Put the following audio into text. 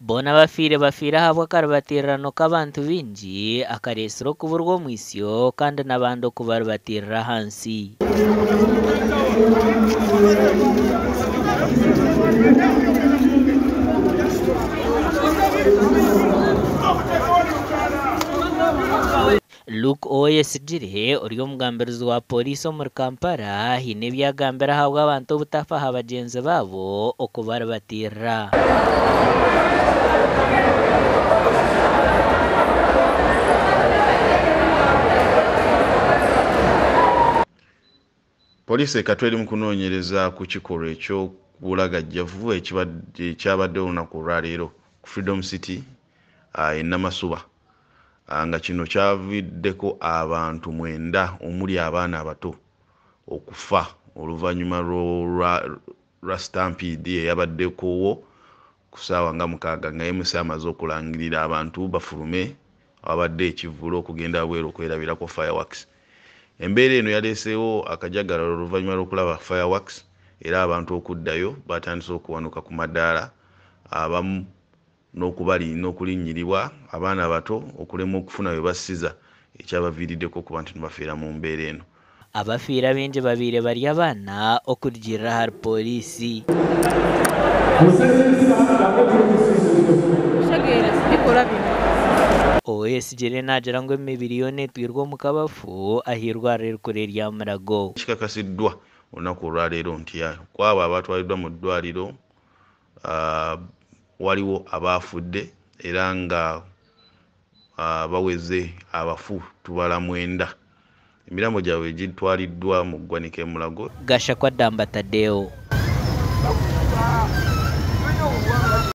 Boona abafiire bafiire ahabw'akaribatirirano k'abantu baingi akareetsire okuburwa omwitsyo kandi n'abandi okubaribatirira ahansi. Luke Owoyesigyire ori omugambirizi wa pooriisi omuri Kampala haine ebi agambire ahabw'abantu obutafa aha bagyenzi baabo okubaribatirira. Poliisi e Katwe eri mu kunoonyereza ku kikolwa eky'obulagajjavu ekyabaddewo olunaku olwaleero ku Freedom City e Namasuba nga kino kyaviiriddeko abantu mwenda omuli abaana abato okufa oluvannyuma lwa stampede eyabaddekowo ku ssaawa nga mukaaga nga MC amaze okulangirira abantu bafulume awabadde ekivvulu okugenda wabweru okwerabirako fireworks. Embeera eno yaleeseewo akajagalalo oluvannyuma lw'okulaba fireworks era abantu okuddayo baatandise okuwanuka ku madaala abamu n'okulinnyiribwa abaana abato okulemwa okufuna we bassiza ekyabaviiriddeko okuba nti bafiira mu mbeera eno. Abafiire abaingi babaire bari abaana okurugiirira ahari pooriisi. Owoyesigyire naagira ngu emibiri yoona etwirwe omu kabafu ah'eirwariro erikuru erya Mulago. Kikakasiddwa olunaku olwaleero nti kwabo abatwaliddwa mu ddwaliro waliwo abaafudde era nga baweze abafu tubala mwenda. Emirambo gyabwe gitwaliddwa mu ggwanika e Mulago. Gashakwa Damba Tadeo.